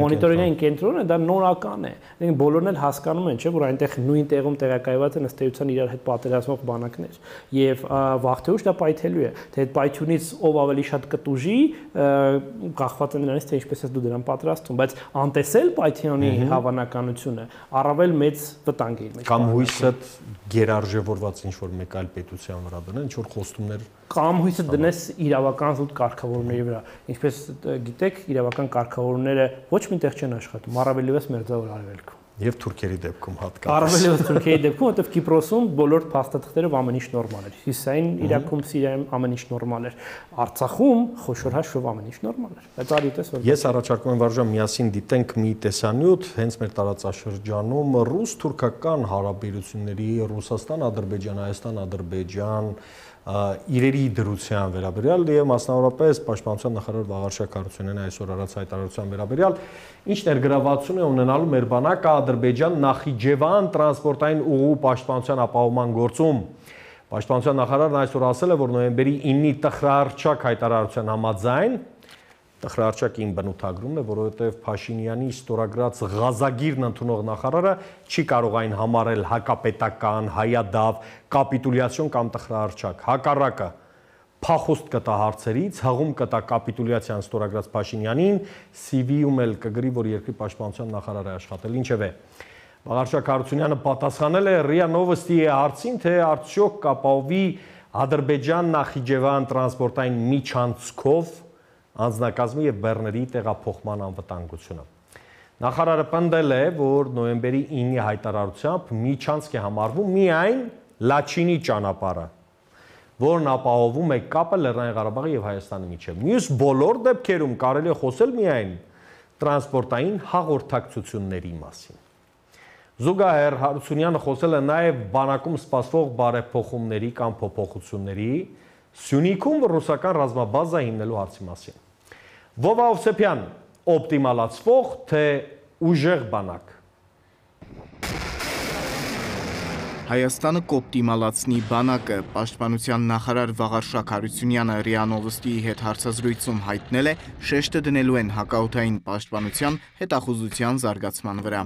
[SPEAKER 11] մոնիտորինգային կենտրոնը դա նորական է։ Բոլորն էլ հասկանում են, չէ՞, որ այնտեղ նույն տեղում տեղակայված են ըստ էության իրար հետ պատերազմող բանակներ։ Եվ վաղ թե ուշ դա պայթելու է։ Թե այդ պայթյունից ով ավելի շատ կտուժի, կախված է նրանից, թե ինչպես է դու դրան պատրաստվում, բայց անտեսել պայթյունի հավանականությունը առավել մեծ վտանգ է իր մեջ։
[SPEAKER 12] Կամ հույսը գերարժևորված ինչ որ մեկ այլ պետության վրա ինչ որ խոստումներ
[SPEAKER 11] կամ հույսը դնես իրավական զուտ կարգավորումների վրա։ Ինչպես գիտեք, իրավական կարգավորումները ոչ միտեղ չեն աշխատում, առավելևս մեր Ձավառ Արևելքում։ Եվ թուրքերի դեպքում հատկապես։ Առավելևս թուրքերի դեպքում, որտեղ Կիպրոսում բոլոր փաստաթղթերով ամեն ինչ նորմալ էր։ Հյուսիսային Իրաքում, Սիրիայում ամեն ինչ նորմալ էր։ Արցախում խոշոր հաշվով ամեն ինչ նորմալ էր։ Բայց արիտես որ
[SPEAKER 12] ես առաջարկում եմ վարժան միասին դիտենք մի տեսանյութ հենց մեր տարածաշրջանում ռուս-թուրքական հարաբերությունների Ռուսաստան-Ադրբեջան, Հայաստան-Ադրբեջան իրերի դրության վերաբերյալ եւ մասնավորապես պաշտպանության նախարար Վաղարշակ Հարությունյանի այսօր արած հայտարարության վերաբերյալ ինչ ներգրավվածություն է ունենալու մեր բանակը Ադրբեջան-Նախիջևան տրանսպորտային ուղու պաշտպանության ապահովման գործում։ Պաշտպանության նախարարն այսօր ասել է, որ նոյեմբերի 9-ի տխրահարչակ հայտարարության համաձայն տխրահարչակին բնութագրում է, որովհետև Փաշինյանի ստորագրած Ղազագիրն ընդունող նախարարը չի կարող այն համարել հակապետական, հայադավ, կապիտուլյացիոն կամ տխրահարչակ։ Հակառակը փախուստ կտա հարցերից, հղում կտա կապիտուլյացիան ստորագրած Փաշինյանին, CV-ում էլ կգրի, որ երկրի պաշտպանության նախարար է աշխատել։ Ինչևէ, Վաղարշակ Հարությունյանը պատասխանել է ՌԻԱ Նովոստի հարցին, թե արդյոք կապահովի Ադրբեջան-Նախիջևան տրանսպորտային միջանցքով անձնակազմի եւ բեռների տեղափոխման անվտանգությունը։ Նախարարը պնդել է, որ նոյեմբերի 9-ի հայտարարությամբ միջանցք է համարվում միայն Լաչինի ճանապարհը, որն ապահովում է կապը Լեռնային Ղարաբաղի եւ Հայաստանի միջեւ։ Մյուս բոլոր դեպքերում կարելի է խոսել միայն տրանսպորտային հաղորդակցությունների մասին։ Զուգահեռ Հարությունյանը խոսել է նաեւ բանակում սպասվող բարեփոխումների կամ փոփոխությունների Սյունիքում ռուսական ռազմաբազա հիմնելու հարցի մասին։ ՎովաՈվսեփյան, օպտիմալացվող թե ուժեղ բանակ։
[SPEAKER 8] Հայաստանը կօպտիմալացնի բանակը, պաշտպանության նախարար Վաղարշակ Հարությունյանը ՌԻԱ Նովոստիի հետ հարցազրույցում հայտնել է, շեշտը դնելու են հակաօդային պաշտպանության հետախուզության զարգացման վրա։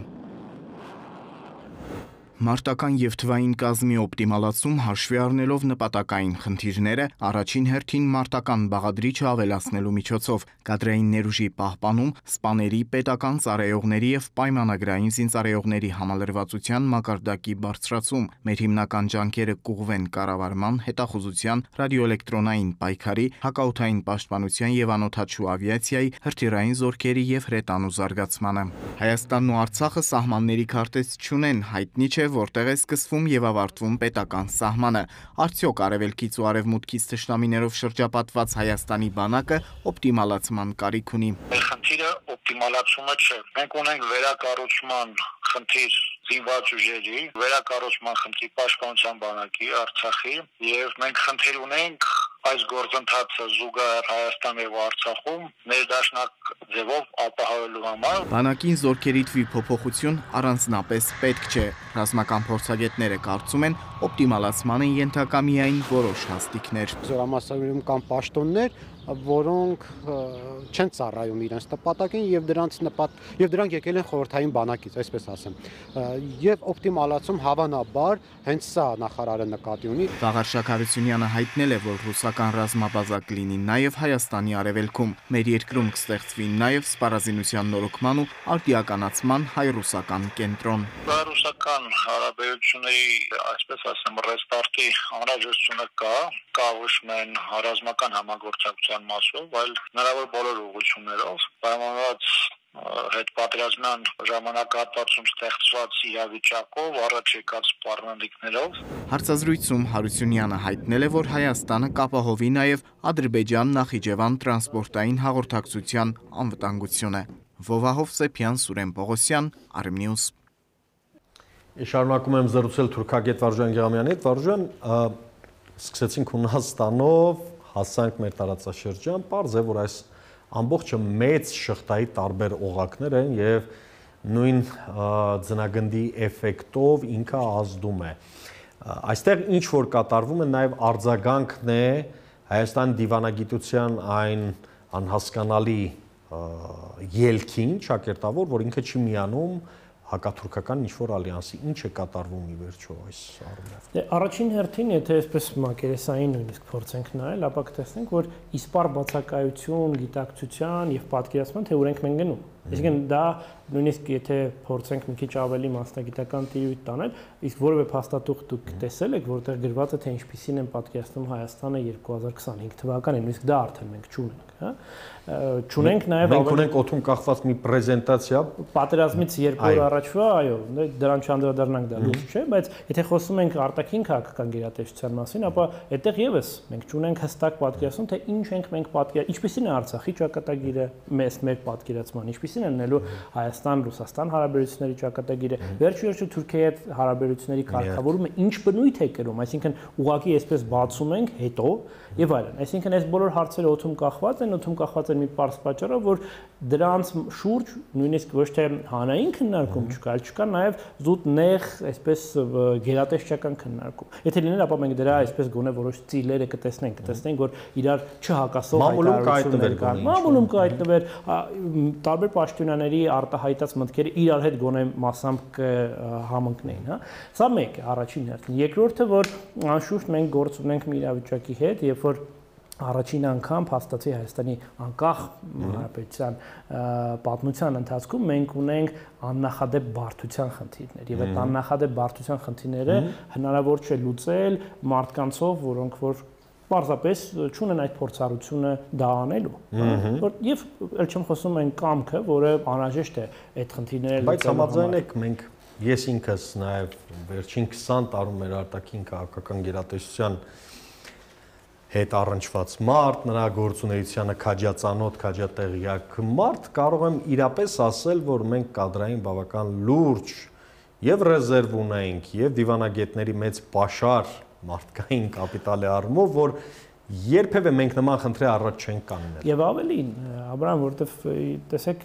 [SPEAKER 8] Մարտական և թվային կազմի օպտիմալացում հաշվի առնելով նպատակային խնդիրները, առաջին հերթին մարտական բաղադրիչը ավելացնելու միջոցով, կադրային ներուժի պահպանում, սպաների, պետական ծառայողների և պայմանագրային զինծառայողների համալրվածության մակարդակի բարձրացում, մեր հիմնական ջանքերը կուղղվեն կառավարման, հետախուզության, ռադիոէլեկտրոնային պայքարի, հակաօդային պաշտպանության և անօդաչու ավիացիայի, հրթիռային զորքերի և հրետանու զարգացմանը։ Հայաստանն ու Արցախը սահմանների քարտեզ չունեն, հայտնի չէ, որտեղ է սկսվում և ավարտվում պետական սահմանը։ Արդյոք արևելքից ու արևմուտքից թշնամիներով շրջապատված Հայաստանի բանակը օպտիմալացման կարիք ունի։
[SPEAKER 13] Մեր խնդիրը օպտիմալացումը չէ։ Մենք ունենք վերակառուցման խնդիր զինված ուժերի, վերակառուցման խնդիր պաշտպանության բանակի, Արցախի, եւ մենք խնդիր ունենք այս գործընթացը զուգահեռ Հայաստան եւ Արցախում ներդաշնակ ձևով ապահովելու համար։
[SPEAKER 8] Բանակին զորքերի թվի փոփոխություն առանձնապես պետք չէ։ Ռազմական փորձագետները կարծում են, օպտիմալացման են ենթակա միայն որոշ հաստիկներ։
[SPEAKER 10] Զորամասերում կան պաշտոններ, որոնք չեն ծառայում իրենց նպատակին եւ դրանք եկել են խորհրդային բանակից, այսպես ասեմ։ Եվ օպտիմալացում հավանաբար հենց սա նախարարը նկատի ունի։
[SPEAKER 8] Վաղարշակ Հարությունյանը հայտնել է, որ ռուսական ռազմաբազա կլինի նաև Հայաստանի արևելքում։ Մեր երկրում կստեղծվի նաև սպառազինության նորոգման ու արդիականացման հայ-ռուսական կենտրոն։
[SPEAKER 13] Ռուսական հարաբերությունների, այսպես ասեմ, ռեստարտի անհրաժեշտությունը կա ոչ միայն ռազմական համագործակցության մասով, այլ հնարավոր բոլոր ուղղություններով, պայմանավորված հետպատերազմյան ժամանակահատվածում ստեղծված իրավիճակով, առաջ եկած սպառնալիքներով։
[SPEAKER 8] Հարցազրույցում Հարությունյանը հայտնել է, որ Հայաստանը կապահովի նաև Ադրբեջան-Նախիջևան տրանսպորտային հաղորդակցության անվտանգությունը։ Վովահով Սեփյան, Սուրեն Պողոսյան, Armnews։
[SPEAKER 12] Շարունակում եմ զրուցել թուրքագետ Վարժան Գեղամյանի հետ։ Վարժան, սկսեցինք Հունաստանով, հասանք մեր տարածաշրջան, պարզ է, որ այս ամբողջը մեծ շղթայի տարբեր օղակներ են եւ նույն ձնագնդի էֆեկտով ինքը ազդում է։ Այստեղ ինչ որ կատարվում է նաեւ արձագանքն է Հայաստանի դիվանագիտության այն անհասկանալի ելքին, ճակերտավոր, որ ինքը չի միանում հակաթուրքական ինչ-որ ալյանսի, ինչ է կատարվում ի վերջո այս առումով։
[SPEAKER 11] Առաջին հերթին, եթե այսպես մակերեսային նույնիսկ փորձենք նայել, ապա կտեսնենք, որ իսպար բացակայություն, գիտակցության եւ պատկերացման թե ուր ենք մենք գնում։ Այսինքն դա նույնիսկ եթե փորձենք մի քիչ ավելի մասնագիտական տիրույթ տանել, իսկ որևէ փաստաթուղթ դուք տեսել եք, որտեղ գրված է թե ինչպիսին են պատկերացնում Հայաստանը 2025 թվականին, նույնիսկ դա արդեն մենք չունենք, հա։ Չունենք նաև
[SPEAKER 12] մենք ունենք օդում կախված մի պրեզենտացիա
[SPEAKER 11] պատերազմից 2 օր առաջվա, այո, դրան չանդրադառնանք, դա լուրջ չէ, բայց եթե խոսում ենք արտաքին քաղաքական գերատեսչության մասին, ապա այդտեղ եւս մենք չունենք հստակ պատկերացում, թե ինչ ենք մենք ինչպիսին է Արցախի ճակատագիրը, մեր պատկերացման, ինչպիսին են նելու Հայաստան-Ռուսաստան հարաբերությունների ճակատագիրը, վերջիվերջո Թուրքիայի հետ հարաբերությունների կարգավորումը ինչ բնույթ է կրում, այսինքն ուղղակի այսպես բացում ենք հետո եւ այլն։ Այսինքն այս բոլոր հարցերը օդում կախված են մի պարզ պատճառով, որ դրանց շուրջ նույնիսկ ոչ թե հանրային քննարկում չկա, այլ չկա նաև զուտ նեղ, այսպես գերատեսչական քննարկում։ Եթե լիներ, ապա մենք դրա այսպես գոնե որոշ ծիլերը կտեսնենք, որ իրար չհակասող հայտարարություններ կան։ Մամուլում կհայտնվեր տարբեր պաշտոնյաների արտահայտած մտքերը իրար հետ գոնե մասամբ կհամընկնեին, հա։ Սա մեկ է, առաջին հերթին։ Երկրորդը, որ անշուշտ մենք գործ ունենք մի իրավիճակի հետ, երբ որ առաջին անգամ փաստացի Հայաստանի անկախ հանրապետության պատմության ընթացքում մենք ունենք աննախադեպ բարդության խնդիրներ եւ այդ աննախադեպ բարդության խնդիրները հնարավոր չէ լուծել մարդկանցով, որոնք որ պարզապես չունեն այդ փորձառությունը դա անելու, որ եւ ել չեմ խոսում այն կամքը, որը անհրաժեշտ է այդ խնդիրները լուծելու։
[SPEAKER 12] Բայց համաձայն եք մենք ես ինքս նաեւ վերջին 20 տարում մեր արտաքին քաղաքական գերատեսչության հետ առնչված մարդ, նրա գործունեությանը քաջածանոթ, քաջատեղյակ մարդ, կարող եմ իրապես ասել, որ մենք կադրային բավական լուրջ եւ ռեզերվ ունենք, եւ դիվանագետների մեծ պաշար մարդկային կապիտալի առումով, որ երբևէ մենք նման խնդրի առաջ չենք կանգնել։
[SPEAKER 11] Եվ ավելին, Աբրահամ, որովհետև տեսեք,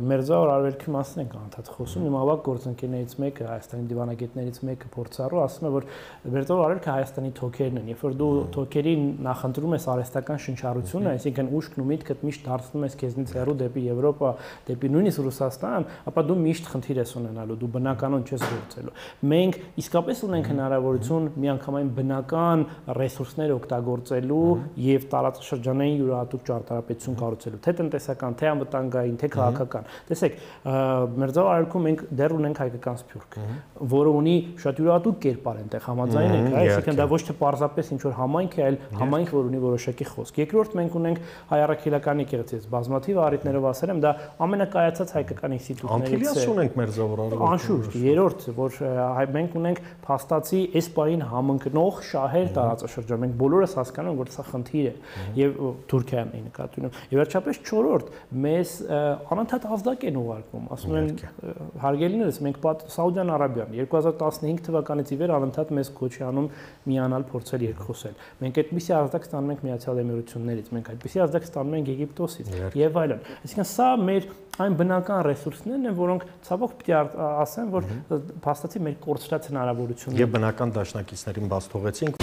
[SPEAKER 11] մերձավոր արևելքի մասին ենք անդադ խոսում, իմ ավագ գործընկերներից մեկը, Հայաստանի դիվանագետներից մեկը փորձառու ասում է, որ մերձավոր արևելքը Հայաստանի թոքերն են, երբ որ դու թոքերին նախընտրում ես արհեստական շնչառությունը, այսինքն ուշքն ու միտքդ միշտ դարձնում ես քեզնից հեռու դեպի Եվրոպա, դեպի նույնիսկ Ռուսաստան, ապա դու միշտ խնդիր ես ունենալու, դու բնականon չես գործելու։ Մենք իսկապես ունենք հնարավորություն միանգամայն բնական ռեսուրսներ օգտագործելու եւ տարածաշրջանային յուրահատուկ ճարտարապետություն կառուցելու, թե տնտեսական, թե անվտանգային, թե քաղաքական։ Տեսեք, մերձավոր արևելքում մենք դեռ ունենք հայկական սփյուռք, որը ունի շատ յուրահատուկ կերպար այնտեղ համաձայն ենք, այսինքն դա ոչ թե պարզապես ինչ որ համայնք է, այլ համայնք, որ ունի որոշակի խոսք։ Երկրորդ մենք ունենք հայ առաքելական եկեղեցի, բազմաթիվ առիթներով ասել եմ, դա ամենակայացած հայկական ինստիտուտներից է։
[SPEAKER 12] Անկիլիաս ունենք մերձավոր արևելքում։
[SPEAKER 11] Անշուշտ, երրորդ, որ մենք ունենք փաստացի այս պահին համընկնող շահեր տարածաշրջան։ Մենք բոլորս հասկանում ենք, որ սա խնդիր է եւ Թուրքիան է նկատի ունեմ։ Եվ վերջապես չորրորդ, մեզ անընդհատ ազդակ են ուղարկում, ասում են հարգելիներս, մենք Սաուդյան Արաբիան 2015 թվականից ի վեր անընդհատ մեզ կոչ է անում միանալ փորձել երկխոսել։ Մենք այդպիսի ազդակ ստանում ենք Միացյալ Էմիրություններից, մենք այդպիսի ազդակ ստանում ենք Եգիպտոսից եւ այլն։ Այսինքն սա մեր այն բնական ռեսուրսներն են, որոնք ցավոք պիտի ասեմ, որ փաստացի մեր կորցրած հնարավորությունները
[SPEAKER 12] եւ բնական դաշնակիցներին բաց թողեցինք։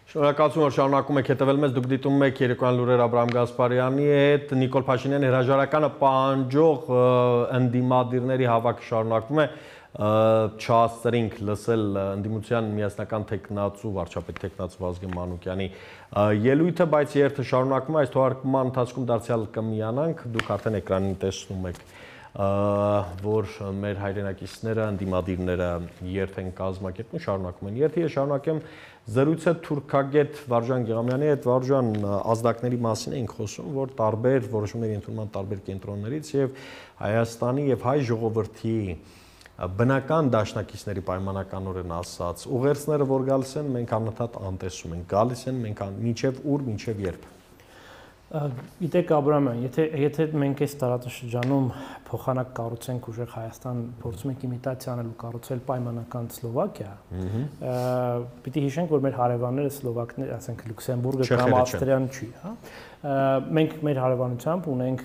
[SPEAKER 12] Շնորհակալություն, որ շարունակում եք հետևել մեզ, դուք դիտում եք երեկոյան լուրեր Աբրահամ Գասպարյանի հետ, Նիկոլ Փաշինյանի հրաժարականը պահանջող ընդդիմադիրների հավաքը շարունակվում է, չհասցրինք լսել ընդդիմության միասնական թեկնածու, վարչապետ թեկնածու Վազգեն Մանուկյանի ելույթը, բայց երթը շարունակվում է, այս թողարկման ընթացքում դարձյալ կմիանանք, դուք արդեն էկրանին տեսնում եք, որ մեր հայրենակիցները, ընդդիմադիրները երթ են կազմակերպում, շարունակում են երթը, ես շարունակեմ զրույցը թուրքագետ Վարժան Գեղամյանի հետ, Վարժան, ազդակների մասին էինք խոսում, որ տարբեր որոշումների ընդունման տարբեր կենտրոններից եւ Հայաստանի եւ հայ ժողովրդի բնական դաշնակիցների պայմանականորեն ասած ուղերձները, որ գալիս են, մենք անընդհատ անտեսում ենք, գալիս են, մենք մինչև ուր, մինչև երբ։
[SPEAKER 11] Գիտեք Աբրահամ, եթե մենք այս տարածաշրջանում փոխանակ կառուցենք ուժեղ Հայաստան, փորձում ենք իմիտացիա անել ու կառուցել պայմանական Սլովակիա, պիտի հիշենք, որ մեր հարևանները սլովակներ, ասենք Լյուքսեմբուրգը կամ Ավստրիան չի, հա։ Մենք մեր հարևանությամբ ունենք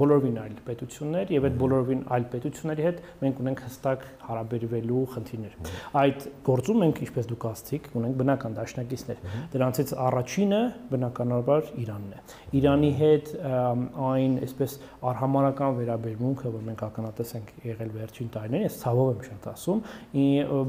[SPEAKER 11] բոլորովին այլ պետություններ եւ այդ բոլորովին այլ պետությունների հետ մենք ունենք հստակ հարաբերվելու խնդիրներ։ Այդ գործում մենք, ինչպես դուք ասացիք, ունենք բնական դաշնակիցներ։ Դրանցից առաջինը բնականաբար Իրանն է։ Իրանի հետ այն այսպես արհամարական վերաբերմունքը, որ մենք ականատես ենք եղել վերջին տարիներին, ես ցավով եմ շատ ասում,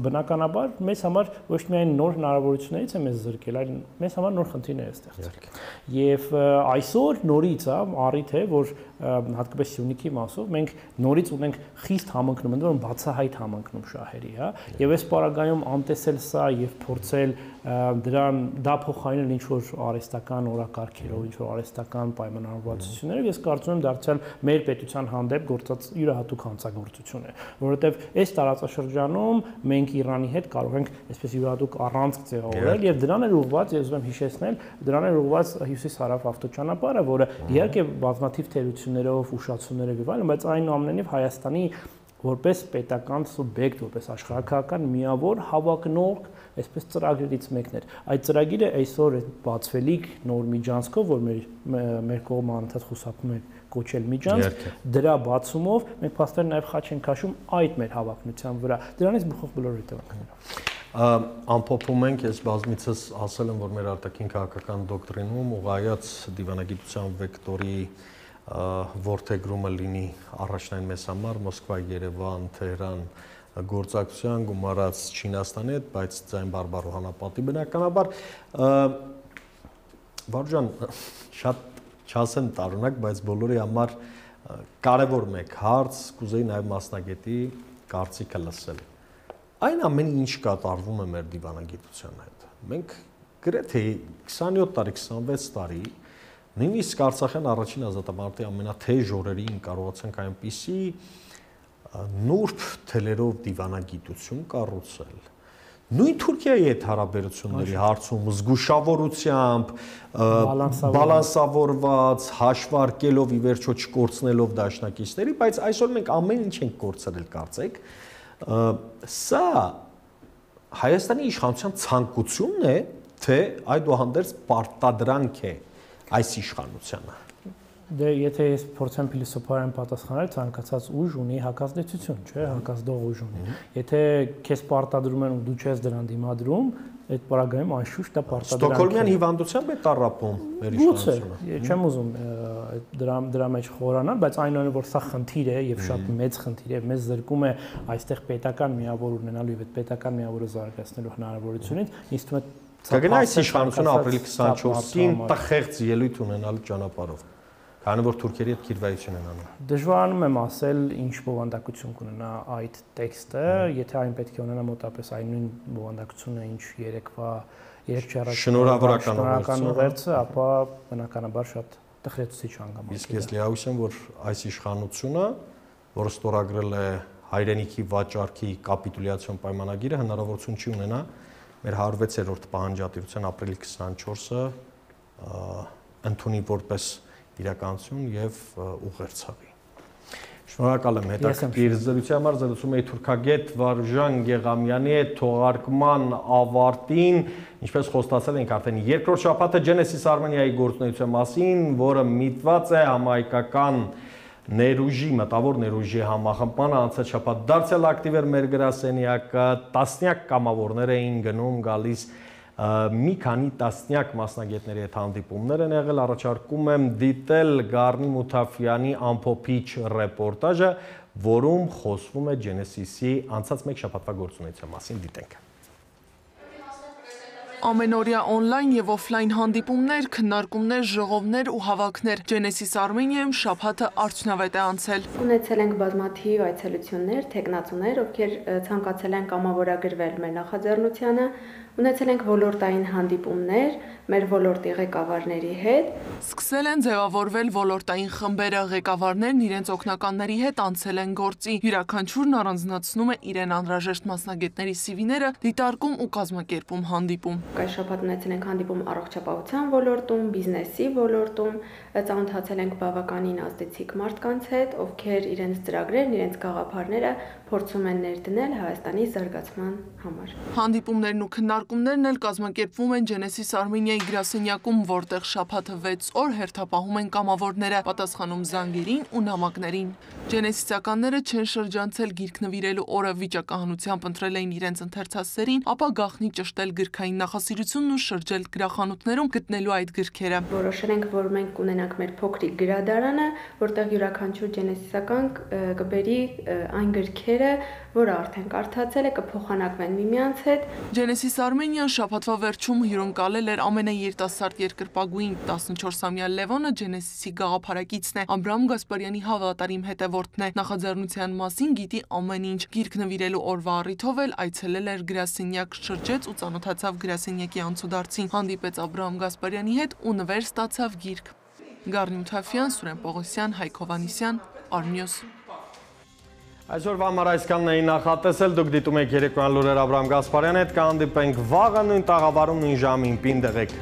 [SPEAKER 11] բնականաբար մեզ համար ոչ միայն նոր հնարավորություններից է մեզ զրկել, այլ մեզ համար նոր խնդիրներ է ստեղծել։ Եվ այսօր նորից առիթ է, որ հատկապես Սյունիքի մասով մենք նորից ունենք խիստ համընկնում, ընդ որում բացահայտ համընկնում շահերի, հա, եւ այս պարագայում անտեսել սա եւ փորձել դա փոխարինել ինչ որ արհեստական օրակարգերով, ինչ որ արհեստական պայմանավորվածություններով, ես կարծում եմ դարձյալ մեր պետության հանդեպ գործած յուրահատուկ հանցագործություն է, որովհետեւ այս տարածաշրջանում մենք Իրանի հետ կարող ենք այսպես յուրահատուկ առանցք ձևավորել եւ դրան էր ուղղված, ես ուզում եմ հիշեցնել, դրան էր ուղղված հյուսիս-հարավ ավտոճանապարհը, որը իհարկե բազմաթիվ թերություններով, ուշացումներով եւ այլն, բայց այնուամենայնիվ Հայաստանի որպես պետական սուբյեկտ, որպես աշխարհաքաղաքական միավոր հավակնող այսպես ծրագրերից մեկն էր։ Այդ ծրագիրը այսօր բացվելիք նոր միջանցքով, որ մեր կողմը անընդհատ խուսափում է կոչել միջանցք, դրա բացումով մենք փաստորեն նաև խաչ ենք քաշում այդ մեր հավակնության վրա։ Դրանից բխող բոլոր հետևանքները։
[SPEAKER 12] Ամփոփում ենք, ես բազմիցս ասել եմ, որ մեր արտաքին քաղաքական դոկտրինում ուղղայաց դիվանագիտության վեկտորի որդեգրումը լինի առաջնային մեզ համար Մոսկվա, Երևան, Թեհրան գործակցության գումարած Չինաստանի հետ, բայց ձայն բարբառ հանապատի բնականաբար Վարժան, շատ չասեմ տարօրինակ, բայց բոլորի համար կարևոր մեկ հարց, կուզեի նաև մասնագետի կարծիքը լսել։ Այն ամենը ինչ կատարվում է մեր դիվանագիտության հետ։ Մենք գրեթե 27 տարի, 26 տարի նույնիսկ Արցախյան առաջին ազատամարտի ամենաթեժ օրերին կարողացանք այնպիսի նուրբ թելերով դիվանագիտություն կառուցել։ Նույն Թուրքիայի հետ հարաբերությունների հարցում զգուշավորությամբ, բալանսավորված, հաշվարկելով ի վերջո չկորցնելով դաշնակիցների, բայց այսօր մենք ամեն ինչ ենք կորցրել, կարծեք։ Սա Հայաստանի իշխանության ցանկությունն է, թե այդուհանդերձ պարտադրանք է այս իշխանությանը։
[SPEAKER 11] Դե եթե ես փորձեմ փիլիսոփայորեն պատասխանել, ցանկացած ուժ ունի հակազդեցություն, չէ՞, հակազդող ուժ ունի։ Եթե քեզ պարտադրում են ու դու չես դրան դիմադրում, այդ պարագայում անշուշտ դա պարտադրանք է։
[SPEAKER 12] Ստոկհոլմյան հիվանդությամբ է տառապում մեր իշխանությունը։
[SPEAKER 11] Չեմ ուզում դրա մեջ խորանալ, բայց այնուամենայնիվ որ սա խնդիր է եւ շատ մեծ խնդիր է, մեզ զրկում է այստեղ պետական միավոր ունենալու եւ այդ պետական միավորը զարգացնելու հնարավորությունից, ինձ թվում է
[SPEAKER 12] կգնա այս իշխանությունը ապրիլի 24-ին տխեղծ ելույթ ունենալու ճանապարհով, քանի որ թուրքերի հետ քիրվայություն են անում։
[SPEAKER 11] Դժվարանում եմ ասել ինչ բովանդակություն կունենա այդ տեքստը, եթե այն պետք է ունենա մոտապես այն նույն բովանդակությունը, ինչ երեք շնորհավորական ուղերձը, ապա բնականաբար շատ տխրեցուցիչ հանգամանք։
[SPEAKER 12] Իսկ ես լիահույս եմ, որ այս իշխանությունը, որը ստորագրել է հայրենիքի վաճառքի կապիտուլյացիոն պայմանագիրը, հնարավորություն չի ունենա մեր 106-րդ պահանջատիրության ապրիլի 24-ը ընդունի որպես իրականություն եւ ուղերձավի։ Շնորհակալ եմ հետաքրքիր զրույցի համար, զրուցում էի թուրքագետ Վարուժան Գեղամյանի հետ թողարկման ավարտին, ինչպես խոստացել ենք արդեն երկրորդ շաբաթը Genesis Armenia-ի գործունեության մասին, որը միտված է համահայկական ներուժի, մտավոր ներուժի համախմբմանը, անցած շաբաթ դարձյալ ակտիվ էր մեր գրասենյակը, տասնյակ կամավորներ էին գնում, գալիս մի քանի տասնյակ մասնագետների հետ հանդիպումներ են եղել, առաջարկում եմ դիտել Գառնի Մութաֆյանի ամփոփիչ ռեպորտաժը, որում խոսվում է Genesis-ի անցած մեկ շաբաթվա գործունեության մասին, դիտենք։
[SPEAKER 14] Ամենօրյա օնլայն եւ օֆլայն հանդիպումներ, քննարկումներ, ժողովներ ու հավաքներ Genesis Armenia-ում շաբաթը արդյունավետ է անցել։
[SPEAKER 15] Ունեցել ենք բազմաթիվ այցելություններ, թեկնածուներ, ովքեր ցանկացել են կամավորագրվել մեր նախաձեռնությանը, ունեցել ենք ոլորտային հանդիպումներ մեր ոլորտի ղեկավարների հետ։
[SPEAKER 14] Սկսել են ձևավորվել ոլորտային խմբերը, ղեկավարներն իրենց օգնականների հետ անցել են գործի։ Յուրաքանչյուրն առանձնացնում է իրեն անհրաժեշտ մասնագետների CV-ները, դիտարկում ու կազմակերպում հանդիպում։
[SPEAKER 15] Այս շաբաթ ունեցել ենք հանդիպում առողջապահության ոլորտում, բիզնեսի ոլորտում, ծանոթացել ենք բավականին ազդեցիկ մարդկանց հետ, ովքեր իրենց ծրագրերն, իրենց գաղափարները փորձում են ներդնել Հայաստանի զարգացման համար։
[SPEAKER 14] Հանդիպումներն ու քննարկումներն էլ կազմակերպվում են Genesis Armenia-ի գրասենյակում, որտեղ շաբաթը 6 օր հերթապահում են կամավորները, պատասխանում զանգերին ու նամակներին։ Genesis-ականները չեն շրջանցել գիրք նվիրելու օրը, վիճակահանությամբ ընտրել էին իրենց ընթերցասերին, ապա գաղտնի ճշտել գրքային նախասիրությունն ու շրջել գրախանութներում գտնելու այդ գրքերը։
[SPEAKER 15] Որոշել ենք, որ մենք կունենանք մեր փոքրիկ գրադարանը, որտեղ յուրաքանչյուր Genesis-ական կբերի այն գրքերը, որը արդեն կարդացել է, կփոխանակվեն միմյանց հետ։
[SPEAKER 14] Genesis Armenia-ն շաբաթվա վերջում հյուրընկալել էր ամենաերիտասարդ երկրպագուին 14-ամյա Լևոնը Genesis-ի գաղափարակիցն է, Աբրահամ Գասպարյանի հավատարիմ հետևորդն է, նախաձեռնության մասին գիտի ամեն ինչ։ Գիրք նվիրելու օրվա առիթով էլ այցելել էր գրասենյակ, շրջեց ու ծանոթացավ գրասենյակի անցուդարձին, հանդիպեց Աբրահամ Գասպարյանի հետ ու նվեր ստացավ գիրք։ Գառնի Մութաֆյան, Սուրեն Պողոսյան, Հայկ Հովհաննիսյան, Arnews։
[SPEAKER 12] Այսօրվա համար այսքանն էի նախատեսել, դուք դիտում եք երեկոյան լուրեր Աբրահամ Գասպարյանի հետ, կհանդիպենք վաղը նույն տաղավարում նույն ժամին, պին դեղեք։